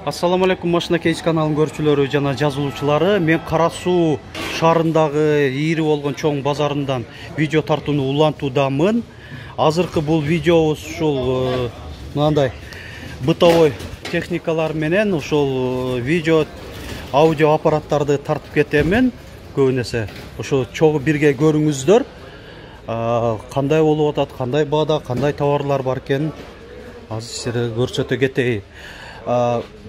Ассаламу алейкум, Машина Кейс каналынын көрүүчүлөрү жана жазылуучулары. Мен Кара Суу шаарындагы ийри болгон чоң базарындан видео тартууну улантуудамын. Азыркы бул видеобуз ушул мындай бытовой техникалар менен ушул видео аудио аппараттарды тартып кетемин. Көбүнесе ошо чогуу бирге көрүңүздөр. Кандай болуп атат, кандай баада, кандай товарлар бар экен азыр силерге көрсөтө кетейин.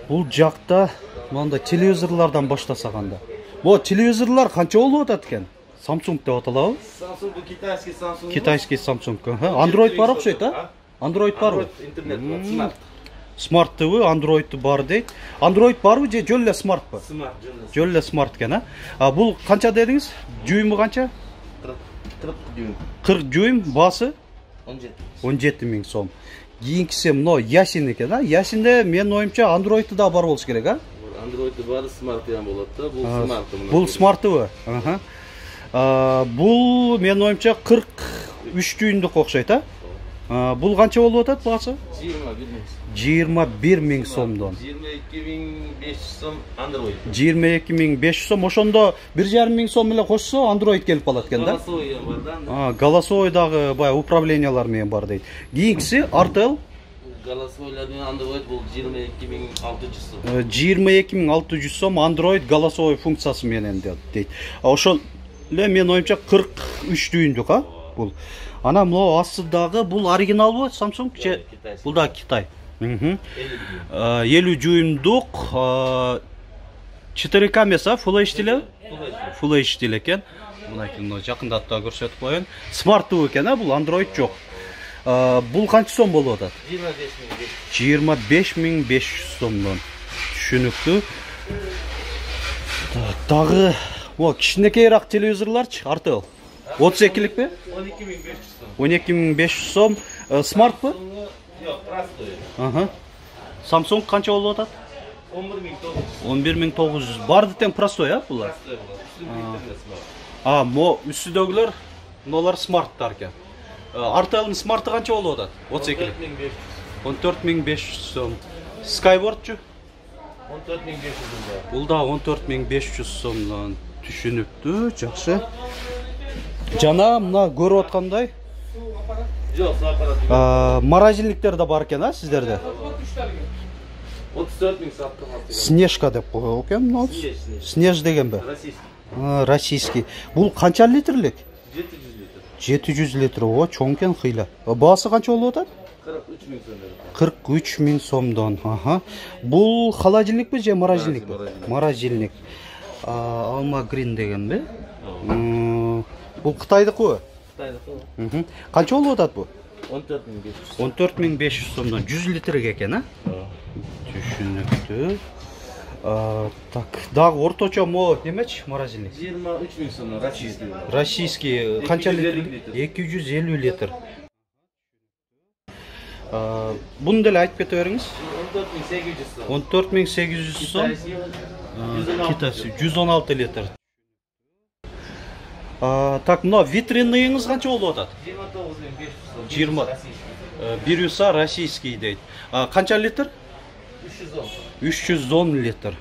Бул жакта мындай телевизорлордон баштасак анда. Бу телевизорлор канча болуп атат экен? Samsung деп аталабы? Samsung китайский Samsung. Китайский Samsung. Android бар окшойт, а? Android барбы? Интернет бар, Smart. Smart ТВ, Android бар дейт. Android барбы же жөн эле Smart ба? Smart, жөн эле Smart экен, а? Бул канча дедиңиз? Жүйүмү канча? 40 дюйм. 40 дюйм, баасы 17 миң сом. Кийинкиси мына Ясин экен, а? Ясинде менин оюмча Android да бар болуш керек, а? Android бар, Smart да болот да. Бул Smart мына. Бул Smart ТВ. Бул менин оюмча 43 дюймдук окшойт, а? Бул канча болуп атат баасы? 21 миң сомдон. 22.500 сом Android. 22.500 сом. Ошондо 1,5 миң сом эле кошсо Android келип калат экен да? Голосовой бар да. Голосовой дагы баягы управлениялар менен бар дейт. Кийинкиси Artel. Голосовойлар менен Android бул 22.600 сом. 22.600 сом Android голосовой функциясы менен дейт. Ошол эле менин оюмча 43 дюймдук, а? Бул. Ана мына астыдагы бул оригиналбы Samsung же? Бул да Китай. 50 дюймдук 4К эмес, а? Full HD эле? Full HD эле экен. Мына жакындатып да көрсөтүп коеюн. Smart ТВ экен, а? Бул Android жок. Бул канча сом болуп атат? 25.500 сомдон. Түшүнүктүү. Дагы о кичинекейраак телевизорлорчу Artel. 32ликпи? 12.500 сом. Smart бы? Жок, простой. Samsung канча болуп атат? 11.900. Барды тең простой, а булар? Мо үстүдөгүлөр мыналар Smarttар экен. Artel'ın Smart'ı канча болуп атат? 32. 14.500 сом. Skywardчу? 14.500 Бул да 14.500 сомдон. Түшүнүктүү, жакшы. Жана мына көрүп аткандай Жок, аппарат. Морозильниктер да бар экен, а сиздерде? 34 миң саттым. Снежка деп койгон экен, Снеж дегенби? Российский. Российский. Бул канча литрлик? 700 литр. 700 литр. О, чоң экен кыйла. Баасы канча болуп атат? 43 миң сомдон. 43 миң сомдон. Бул холодильникпи же морозильникпи? Морозильник. Alma Green дегенби? Бул Кытайдыкы? Кытайдыкы. Канча болуп атат бу? 14.500. 14.500 сомдон. 100 литрге экен, а? Түшүнүктүү. Так, дагы орточо мо немечи морозильник? 23 миң сомдон российский. Российский канча литр? 250 литр. Буну деле айтып кете бериңиз. 14.800 сом. Китайский 116 литр. Так, мына витриныңыз канча болуп атат? 29.500 сом. 20. Бирюса российский дейт. Канча литр? 310 литр.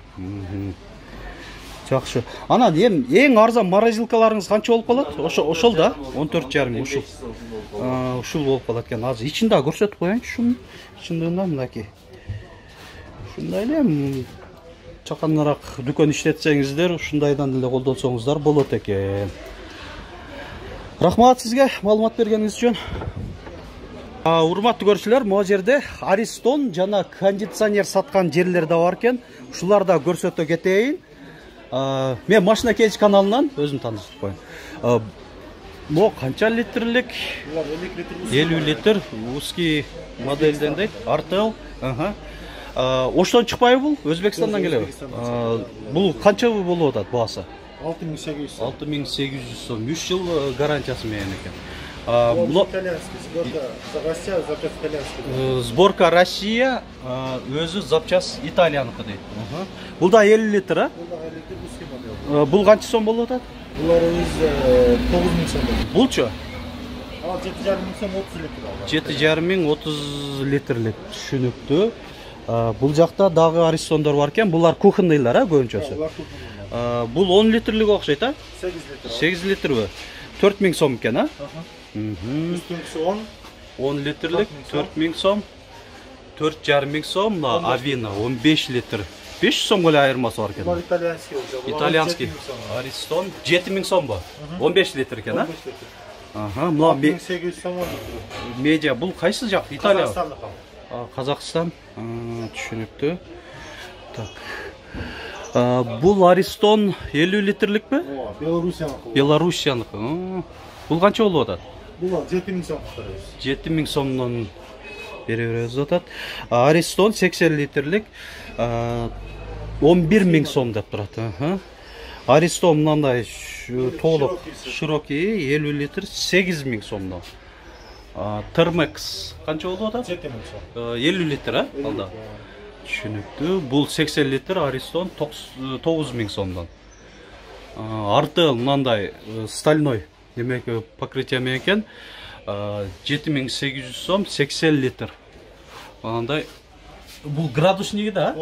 Жакшы. Анан эң арзан морозилкаларыңыз канча болуп калат? Ошол да 14,5 ушул болуп калат экен. Азыр ичин да көрсөтүп коеюнчу шуну. Чындыгында мынакей. Ушундай эле чаканыраак дүкөн иштетсеңиздер, ушундайдан эле колдонсоңуздар болот экен. Рахмат сизге маалымат бергениңиз үчүн. Урматтуу көрүүчүлөр, могу жерде Ariston жана кондиционер саткан жерлер да бар экен. Ушуларда көрсөтө кетейин. Мен Машина Кейс каналынан өзүм таанышып коеюн. Мо канча литрлик? 50 литр узкий модельден дейт. Artel. Оштон чыкпайбы бул? Өзбекстандан келеби? Бул канча болуп атат баасы? 6.800 сом. 6.800 сом. 3 жыл гарантиясы менен экен. Итальянский, сборка Россия, запчасть итальянский. Сборка Россия, өзү запчасть Италияныкы дейт. Бул да 50 литр, а? Бул да 50 литр узкий модель. Бул канча сом болуп атат? Булар өзү 9 миң сом. Булчу? 7,5 миң сом 30 литр. 7,5 миң 30 литрлик. Түшүнүктүү. Бул жакта дагы Аристондор бар экен. Булар кухонныйлар, көбүнчөсү. Бул 10 литрлик окшойт, 8 литр. 8 литрбы? 4000 сом экен, Үстүнкүсү 10 литрлик 4000 сом. 4,5 сом, мына Авина 15 литр. 500 сомго эле айырмасы бар экен. Бул итальянский. Итальянский. Аристон 7000 сомбу? 15 литр экен, 15 литр. Мына 800 сом. медиа бул кайсы жак? Италия. Казакстандыкы. Казакстан. Түшүнүктүү. Так. Бул Аристон 50 литрликпи? Белоруссияныкы. Белоруссияныкы. Бул канча болуп атат? Бул 7000 сом турат. 7000 сомдон бере беребиз деп атат. Аристон 80 литрлик 11000 сом деп турат. Аристон мындай толук широкий 50 литр 8000 сомдон. Термекс канча болуп атат? 7000 сом. 50 литр, алда. Түшүнүктүү. Бул 80 литр Аристон 9000 сомдон. Артыл мындай стальной демек покрытие менен 7800 сом 80 литр. Андай бул градусниги да?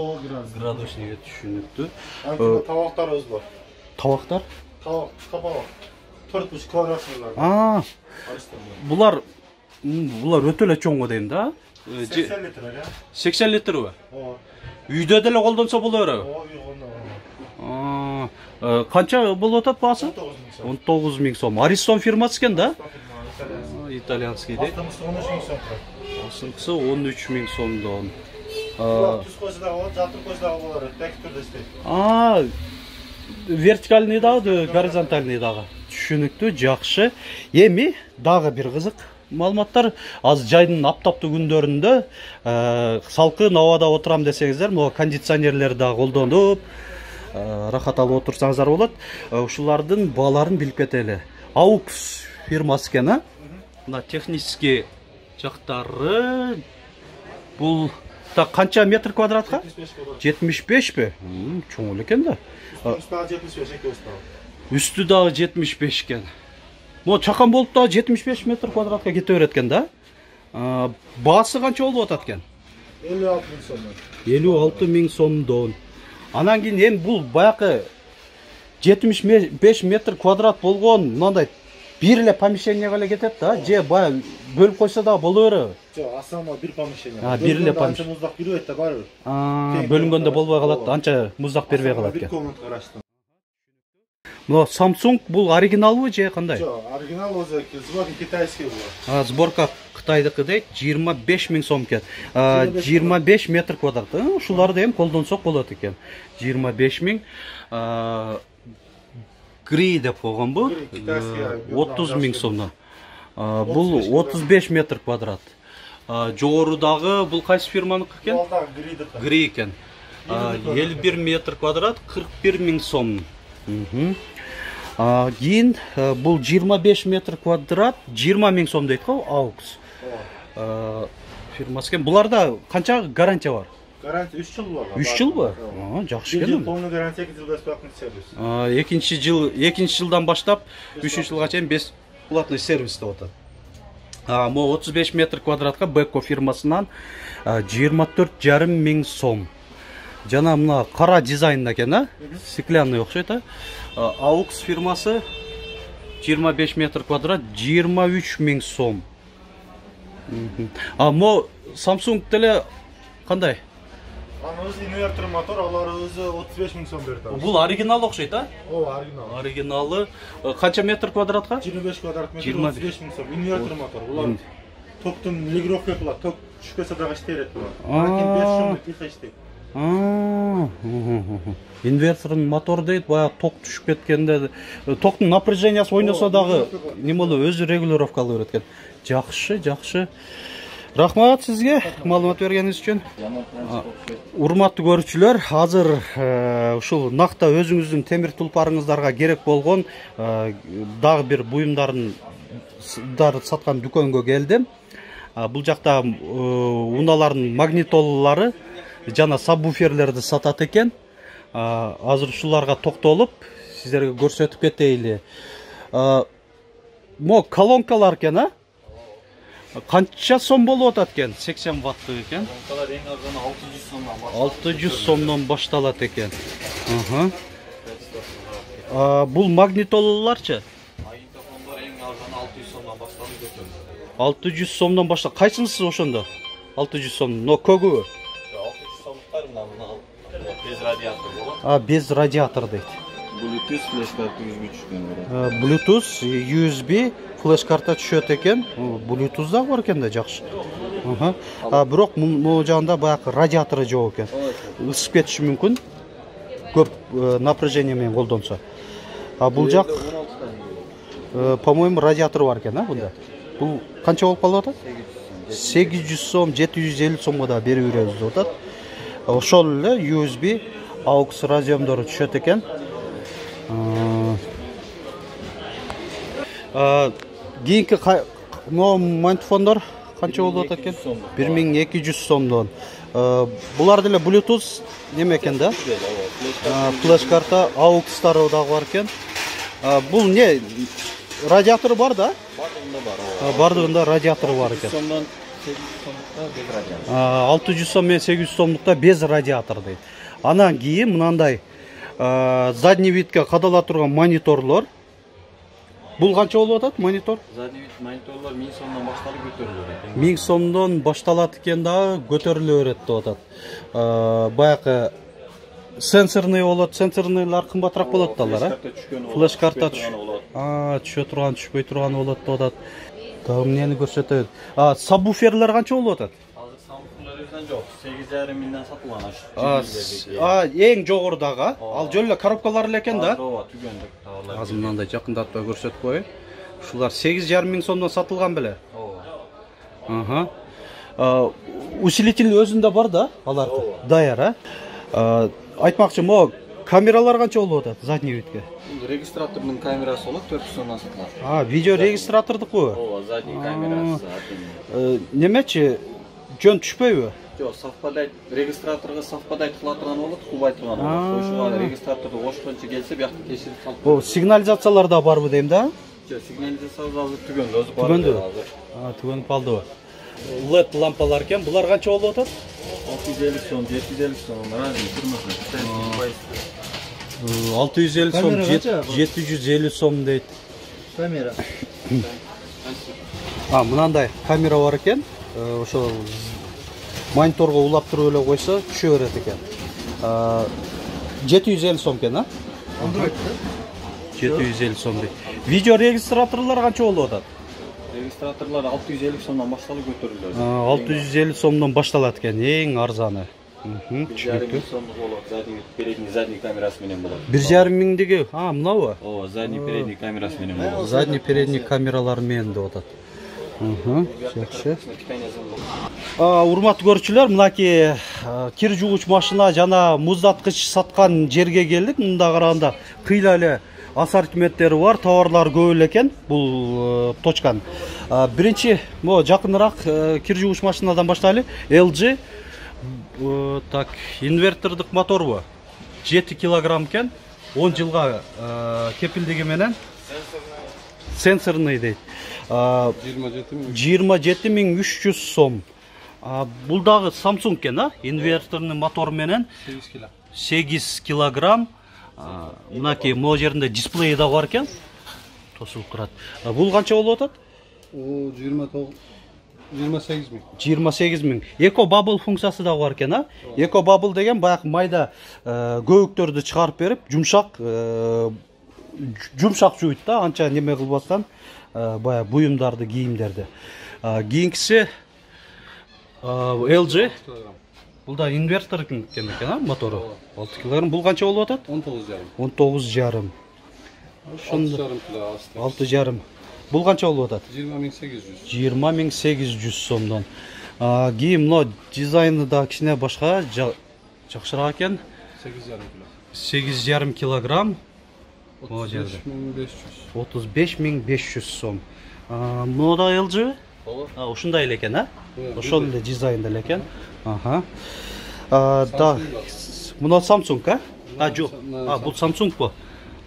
Градусниги түшүнүктүү. Табактарыбыз бар. Табактар? Табак. 4,5 квадратныйлар. Булар өтө эле чоң дейм да? 80 литр, 80 литрбы? Үйдө деле колдонсо боло береби? Канча болуп атат баасы? 19000 сом. Аристон фирмасы экен да? Итальянский дейт. Асынкысы 13000 сомдон. Түз койсо да болот, жалтыр койсо да болот. Так түрдө иштейт. Вертикальный дагы, горизонтальный дагы. Түшүнүктүү, жакшы. Эми дагы бир кызык маалыматтар. Азыр жайдын аптаптуу күндөрүндө салкын абада отурам десеңиздер, могу кондиционерлер да колдонуп, рахат алып отурсаңыздар болот. Ушулардын бааларын билип кетели. AUX фирмасы экен, мына технический жактары. Бул так канча метр квадратка? 75пи? Чоң эле экен да. Үстү дагы 75 экен. Могу чакан болуп дагы 75 метр квадратка кете берет экен да. Баасы канча болуп атат экен? 56000 сомдон. 56000 сомдон. Анан кийин эми бул баягы 75 метр квадрат болгон мындай бир эле помещениеге эле кетет да, же баягы бөлүп койсо дагы боло береби? Жок, основной бир помещение. Бир эле помещение. Анча муздак бербейт да барыбыр. Бөлүнгөндө болбой калат да, анча муздак бербей калат Бир экен. комнатка караштым. Но Samsung бул оригиналбы же кандай? Жок, оригинал өзү сборка китайский бул. Сборка Кытайдыкы дейт, 25000 сом экен. 25 метр квадрат. Ушуларды эми колдонсок болот экен. 25000 Гри деп койгонбу? 30000 сомдон. Бул 35 метр квадрат. Жогорудагы бул кайсы фирманыкы экен? Гри экен. 51 метр квадрат 41000 сом. Кийин бул 25 метр квадрат 20000 сом дейт го, AUX. Фирмасы экен. Буларда канча гарантия бар? Гарантия 3 жыл бар. 3 жылбы? Жакшы экен. Полный гарантия, 2 жыл бесплатный сервис. Экинчи жылдан баштап 3 жылга чейин бесплатный сервис деп атат. Могу 35 метр квадратка Beko фирмасынан 24,500 сом. Жана мына кара дизайнда экен, стеклянный окшойт, AUX фирмасы 25 метр квадрат 23000 сом. Мо Samsung деле кандай? Анын өзү инвертор мотор, алар өзү 35000 сом берди. Бул оригинал окшойт, оригинал. Оригиналы канча метр квадратка? 25 квадрат метр, 35000 сом. Инвертор мотор. Булар токтун регулировка кылат, ток түшүп кетсе дагы иштейт булар. Лакин 5 шумдук тихо иштейт. Инвертордун мотор дейт, баягы ток түшүп кеткенде токтун напряжениясы ойносо дагы неме болуп өзү регулировка кылып берет экен. Жакшы. Рахмат сизге маалымат бергениңиз үчүн. Урматтуу көрүүчүлөр, азыр ушул накта өзүңүздүн темир тулпарыңыздарга керек болгон дагы бир буюмдарды саткан дүкөнгө келдим. Бул жакта унаалардын магнитолалары жана сабвуферлерди сатат экен. Азыр ушуларга токтолуп сиздерге көрсөтүп кетейли. Мо колонкалар экен, Канча сом болуп атат экен? 80 ваттык экен. Лампалар эң арзаны 600 сомдон башталат. 600 сомдон башталат экен. Бул магнитолаларчы? Магнитофондор эң арзаны 600 сомдон башталып көтөрүлөт. 600 сомдон баштап. Кайсынысы ошондо? 600 сом. Но көгү. 600 сомдуктар мына без радиатор болот. Без радиатор дейт. Bluetooth флеш карта USB түшкөн болот. Bluetooth, USB флеш карта түшөт экен. Bluetooth да бар экен да, жакшы. Бирок могу жагында баягы радиатору жок экен. Ысып кетиши мүмкүн. Көп напряжение менен колдонсо. Бул жак по-моему радиатор бар экен, бунда. Бул канча болуп калып атат? 800 сом, 750 сомго да берип беребиз деп атат. Ошол эле USB AUX разъемдору түшөт экен. Кийинки магнитофондор канча болуп атат экен? 1200 сомдон. Булар деле Bluetooth неме экен да? Флеш карта AUX-тары дагы бар экен. Бул не? Радиатору бар да? Бардыгында радиатору бар экен. 600 сом менен 800 сомдукта без радиатор дейт. Анан кийин мынандай задний видке кадала турган мониторлор. Бул канча болуп атат монитор? Задний вид мониторлор 1000 сомдон башталып көтөрүлөт. 1000 сомдон башталат экен дагы, көтөрүлө берет деп атат. Баягы сенсорный болот, сенсорныйлар кымбатыраак болот да алар, флеш карта түшө турган, түшпөй турган болот деп атат. Дагы эмнени көрсөтөт? Сабвуферлер канча болуп атат? Азыр сабвуферлерден жок, 8,5 миңден сатылган аш. Эң жогорудагы, ал жөн эле коробкалар эле экен да? Ооба, түгөндүк товарлар. Азыр мындай жакындатпай көрсөтүп коеюн. Ушулар 8,5 миң сомдон сатылган беле? Ооба. Усилитель өзүндө бар да, алар даяр, Айтмакчы, могу камералар канча болуп атат задний видке? Регистратордун камерасы болот, 400 сомдон сатылат. Видео регистратордуку? Ооба, задний камерасы. Немечи, жөн түшпөйбү? Жок, совпадать, регистраторго совпадать кыла турган болот, кубай турган болот. Ошого регистраторду кошкончо келсе, биякта текшерип салып. Сигнализациялар да барбы дейм да? Жок, сигнализациялар азыр түгөндү, өзү бар. Түгөнүп калдыбы? LED лампалар экен, булар канча болуп атат? 650 сом, 750 сом, разный турмасын. 650 сом, 750 сом дейт. Камера. Мынандай камера бар экен. Ошо мониторго улап туруп эле койсо түшө берет экен. 750 сом экен, 750 сом дейт. Видео регистраторлор канча болуп атат? Регистраторлар 650 сомдон башталып көтөрүлөт. 650 сомдон башталат экен, эң арзаны. 1,5 сомдук болот, задний камерасы менен болот. 1,5 миңдиги, мынабы? Ооба, задний передний камерасы менен болот. Задний передний камералар менен деп атат. Жакшы. Урматтуу көрүүчүлөр, мынакей кир жуугуч машина жана муздаткыч саткан жерге келдик. Мында караганда кыйла эле ассортименттери бар, товарлар көп эле экен бул точкан. Биринчи, могу жакыныраак кир жуугуч машинадан баштайлы. LG инвертордук моторбу? 7 килограмм экен, 10 жылга кепилдиги менен. Сенсорный дейт. 27300 сом. Бул дагы Samsung экен, инверторный мотор менен 8 килограмм. Мынакей могу жеринде дисплей да бар экен. Тосулуп турат. Бул канча болуп атат? 28 миң. 28 миң. Eco Bubble функциясы да бар экен, Eco Bubble деген баягы майда көбүктөрдү чыгарып берип, жумшак жууйт да, анча неме кылбастан, баягы буюмдарды, кийимдерди. Кийинкиси LG. Бул да инвертор экен, мотору. 6 кг. Бул канча болуп атат? 19,5. Ошондо 6,5. Бул канча болуп атат? 20800 сомдон. Кийин мына дизайны да кичине башка, жакшыраак экен. 8,5 кг. 35500 сом. Мына да LG? Ушундай эле экен, Ошол эле дизайнда эле экен. Да. Мына Samsung, Жок. Бул Samsung бу.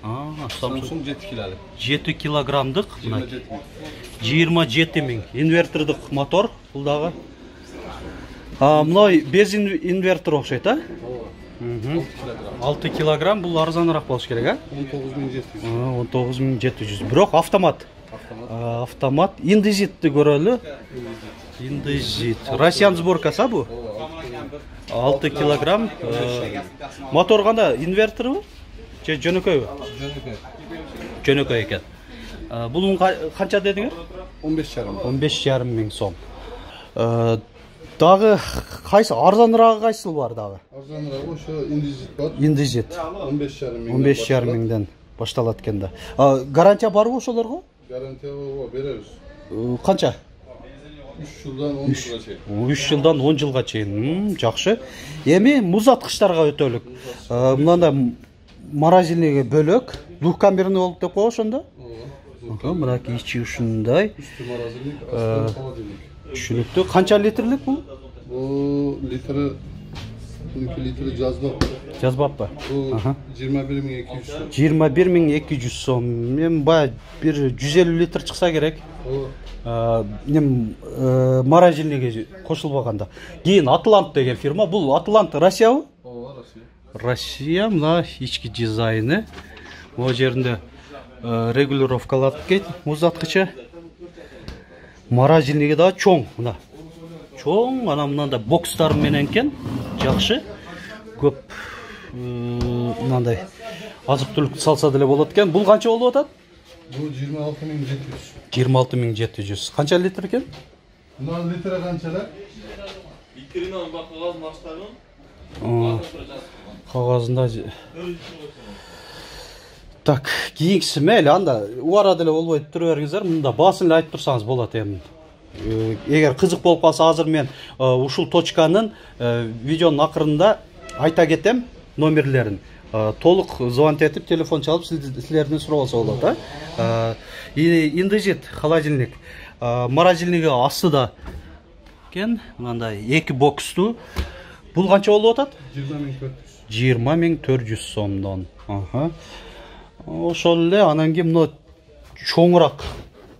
Samsung 7 kiloluk. 7 kilogramдык. 27 ming. 27 миң. Инвертордук мотор бул дагы. Мына без инвертор окшойт, а? 6 килограмм бул арзаныраак болуш керек, а? 19700. 19700. Бирок автомат. Автомат. Индизитти көрөлү. Индизит. Россиян сборкасы бу? 6 килограмм. Мотор кандай? Инверторбу? Же жөнөкөйбү? Жөнөкөй экен. Бунун канча дедиңер? 15,5 миң сом. Дагы кайсы арзаныраак кайсы бар дагы? Арзаныраак ошо индизит бар. Индизит 15,5 миңден башталат экен да. Гарантия барбы ошолорго? Гарантия беребиз. Канча? 3 жылдан 10 жылга чейин. 3 жылдан 10 жылга чейин. Жакшы. Эми музаткычтарга өтөлүк. Мында морозильныйга бөлөк, двухкамерный болуп деп коебуз ошондо? Мынакей ичи ушундай. Үстү морозильник, асты холодильник. Түшүнүктүү. Канча литрлик бул? Бул литри 12 литри жазбаппы? Бул 21200 сом. 21200 сом. Мен бая бир 150 литр чыкса керек. Морозильниге кошулбаганда. Кийин Атлант деген фирма. Бул Атлант Россиябы? Ооба, Россия. Россия, мына ички дизайны. Могу жеринде регулировкалап кетти, музаткычы. Морозильниги да чоң, мына. Чоң, ана мындай бокстар менен экен. Жакшы. Көп мындай азык-түлүк салса деле болот экен. Бул канча болуп атат? Бул 26700. 26700. Канча литр экен? Мына литри канчалар? Литринен кагаз маштабын. Кагазында. Так, кийинкиси мейли анда убара деле болбойт тура бериңиздер. Мында баасын эле айтып турсаңыз болот эми. Эгер кызык болуп калса, азыр мен ушул точканын видеонун акырында айта кетем номерлерин. Толук звонок этип, телефон чалып силерден сурабалса болот, а? Индизит холодильник. Морозильниги астыда экен, мындай 2 бокстуу. Бул канча болуп атат? 20400 сомдон. Ошол эле анан кийин мына чоңураак,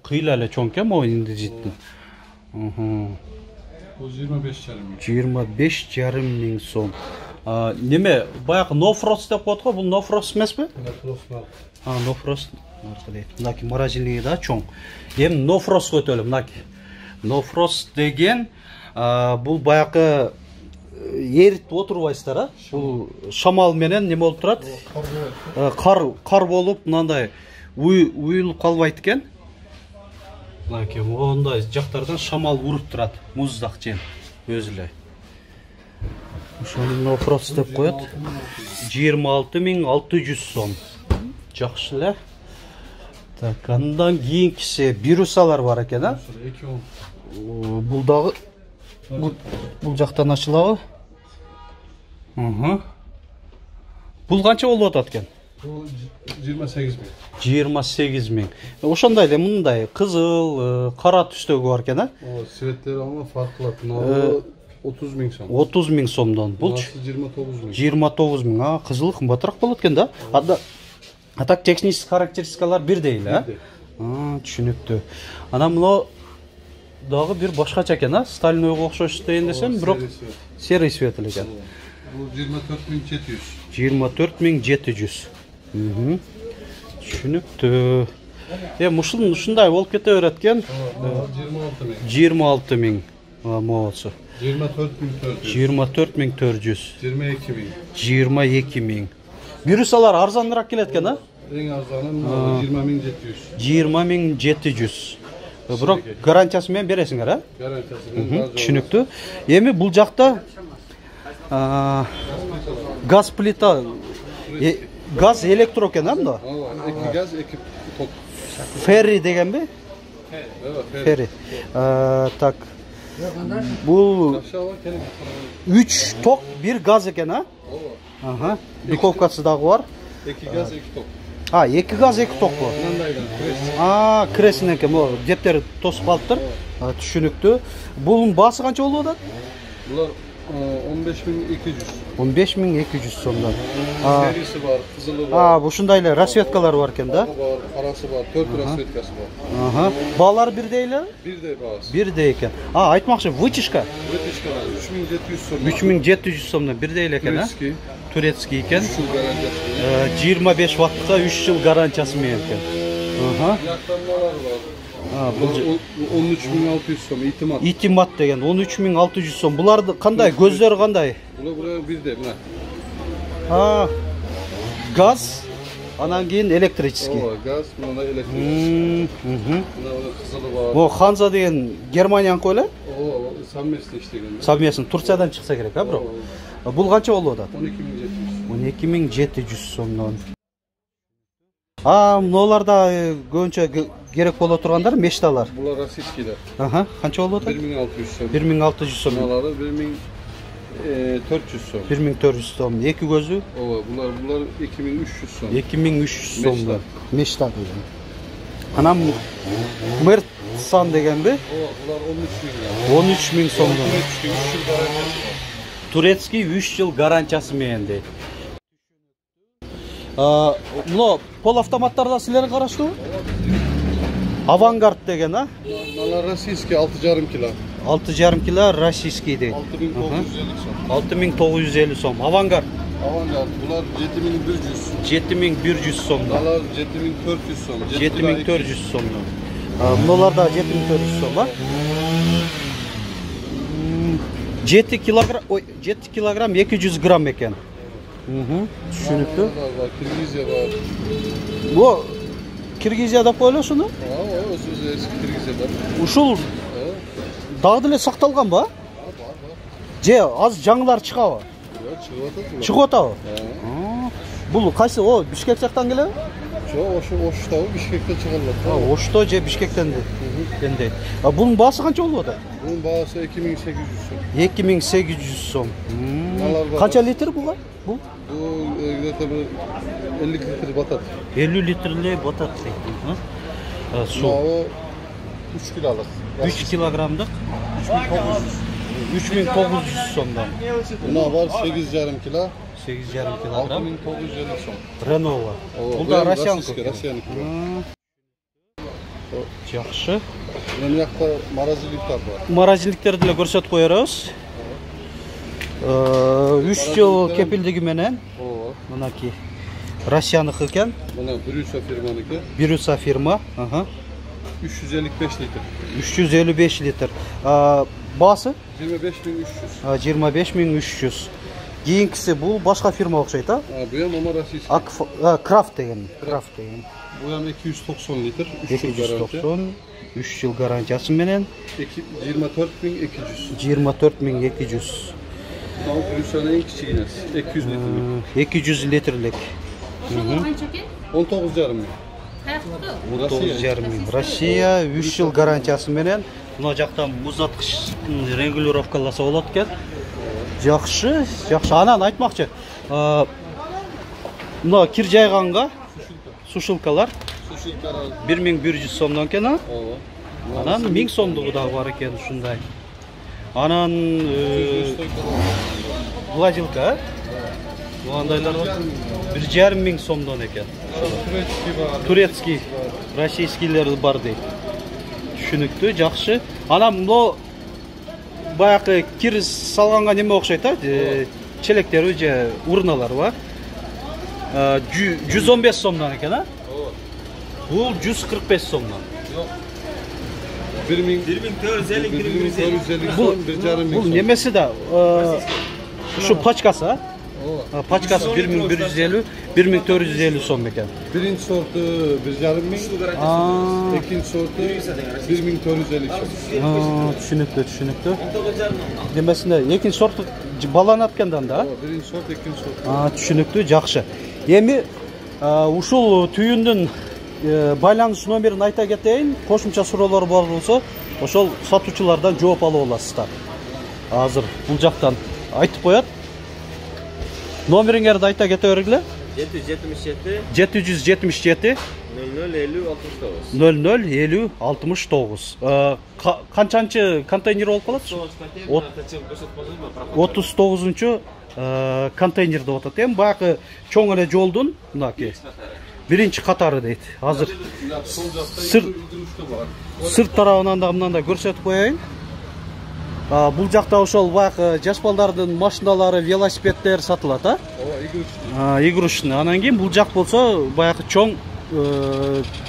кыйла эле чоң экен могу индизиттин. Бул 25,5 миң сом. Неме, баягы No Frost деп коет го, бул No Frost эмеспи? No Frost. Мынаки морозильниги да чоң. Эми No Frost өтөлү, мынаки. No Frost деген бул баягы эритип отурбайсыздар, а? Бул шамал менен неме болуп турат? Кар болуп, мындай уюлуп калбайт экен. Мынакей мондай жактардан шамал уруп турат, муздак жем өзү эле. Ошону No Frost деп коет. 26600 сом. Жакшы эле. Так, андан кийинкиси бирусалар бар экен, а? Бул дагы бул жактан ачылабы? Бул канча болуп атат экен? Бул 28 миң. 28 миң. Ошондой эле мындай кызыл, кара түстөгү бар экен, а? Светтери ама фарк кылат. Мына 30 миң сом. 30 миң сомдон. Бул 29 миң. 29 миң. Кызыл кымбатыраак болот экен да. А так технический характеристикалар бирдей эле, а? Түшүнүктүү. Анан мына дагы бир башкача экен, а? Стальнойго окшош дейин десем, бирок серый свет эле экен. Бул 24700. 24700. Түшүнүктүү. Ушундай болуп кете берет экен. 26 миң. Моосу. 24400. 22 миң. Бирусалар арзаныраак келет экен, а? Эң арзаны 20700. 20700. Бирок гарантиясы менен бересиңер, а? Гарантиясы менен. Түшүнүктүү. Эми бул жакта газ плита, газ электро экен, а мында? Ооба, 2 газ, 2 ток. Ферри дегенби? Ферри. Так. Бул 3 ток, 1 газ экен, а? Ооба. Дуковкасы дагы бар. 2 газ, 2 ток. 2 газ, 2 ток бар. Кресин экен, могу дептер тосуп калыптыр. Түшүнүктүү. Бунун баасы канча болуп атат? Булар 15200. 15200 сомдон. Серisi var, kızılı var. Ушундай эле расцветкалар бар экен да? Var, parası var, 4 rasvetkası var. Баалары бирдей эле? Birde bağız. Бирдей экен. Айтмакчы, вытяжка Вытяжкалар 3700 сом. 3700 сомдон бирдей эле экен, Турецкий. Турецкий экен. 3 yıl garantiyası. 25 ваттка 3 жыл гарантиясы менен экен. Yaklanmalar var. Бул 13600 сом, itimat. Итимат деген 13600 сом. Буларды кандай? Көздөрү кандай? Buraya birde, buna. Газ, анан кийин электрический. O gaz, buna da elektrik. Buna kızılı var. О, Ханза деген Германияныкы эле? O совместно işlegen. Совместно Турциядан чыкса керек, бирок. Бул канча болуп атат? 12700. 12700 сомдон. Мыналарда көбүнчө керек боло тургандар мечталар. Bunlar российскиler. Канча болуп атат? 1600 сом. 1600 сом. Bunaları 1400 сом. 1400 сом. Эки көзү Bunlar 2300 сом. 2300 сомдон. Мечта деген. Анан Мертсан дегенби? Bunlar 13000 lira. 13000 сомдон. 3 yıl garantiyası var. Турецкий 3 жыл гарантиясы менен дейт. Мына пол автоматтарда силерге караштуу? Авангард деген, Bunlar российский 6,5 kilo. 6,5 kilo российский дейт. 6950 сом. 6950 сом. Авангард Avantgard bunlar 7100. 7100 сомдон. Bunlar 7400 сом. 7400 сомдон. Мыналарда 7400 сом, 7 килограмм, 7 килограмм 200 грамм экен. Түшүнүктүү. Киргизия бар. Бу Киргизия деп коелу ушуну? O eski Kırgızya var. Ушул дагы деле сакталганбы? Же азыр жаңылар чыгабы? Чыгып атабы? Бул кайсы? Бишкек жактан келеби? Жок, Ошто, Бишкектен чыгарылат. Ошто же Бишкектен дендей. Бунун баасы канча болуп атат? Bunun bağısı 2800 сом. 2800 сом. Канча литр буга? Бул? Bu где-то 50 litre batat. 50 литрлей батат дейт. Су. O 3 kilolik. 3 килограммдык 3900 сомдон. Buna var 8,5 kilo. 8,5 килограмм. 6950 сом. Ренова. Бул да Россияныкы. Россияныкы. Жакшы. Мына жакта морозильниктер бар. Морозильниктерди деле көрсөтүп коербуз. 3 жыл кепилдиги менен. Мынакей Россияныкы экен. Мына Брюса фирманыкы. Брюса фирма. 355 litr. 355 литр. Баасы 25300. 25300. Кийинкиси бул башка фирма окшойт, Bu ham ama российский. Крафт деген. Bu ham 290 litr. 3 yıl garanti. 290 3 жыл гарантиясы менен 24200. 24200. Bu Brüsa'nın en kiçiğinesi. 200 litrelik. 200 литрлик. Ошол канча экен? 19,5 ming. Каяктыкы? 9,5 миң. Россия 3 жыл гарантиясы менен мына жактан муздаткычтын регулировкаласа болот экен. Жакшы. Анан айтмакчы, мына кир жайганга сушилкалар 1100 сомдон экен, анан 1000 сомдугу да бар экен ушундай. Анан гладилка, мындайлар 1,5 миң сомдон экен. Турецкий, российскийлер бар дейт. Түшүнүктүү, жакшы. Анан мына баягы кир салганга неме окшойт, челектер же урналар бар. 115 сомдон экен, Бул 145 сомдон. 1450 сом, 1,5 Бул немеси да, ушу пачкасы, Пачкасы 1150, 1450 сом экен. Birinci sortu 1,5 ming, ikinci sortu 1450 som. Түшүнүктүү. Демесинде экинчи сорт баланат экендан да. Birinci sort, ikinci sort. Түшүнүктүү, жакшы. Эми ушул түйүндүн байланыш номерин айта кетейин. Кошумча суроолор бар болсо, ошол сатуучулардан жооп алып аласыздар. Азыр бул жактан айтып коет. Номериңерди айта кете бергиле. 777 777 00 50 69. 00 50 69. Канчанчы контейнер болуп калат? 39-чу контейнер деп атат. Эми баягы чоң эле жолдун мынакей биринчи катары дейт. Азыр сырт тарабынан да мындай көрсөтүп коеюн. Бул жакта ошол баягы жаш балдардын машиналары, велосипеддер сатылат, игрушечный. Анан кийин бул жак болсо баягы чоң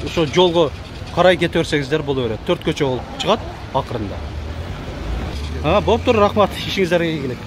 ошо жолго карай кете берсеңиздер боло берет. 4 көчө болуп чыгат акырында. Болуптур, рахмат. Ишиңиздерге ийгилик.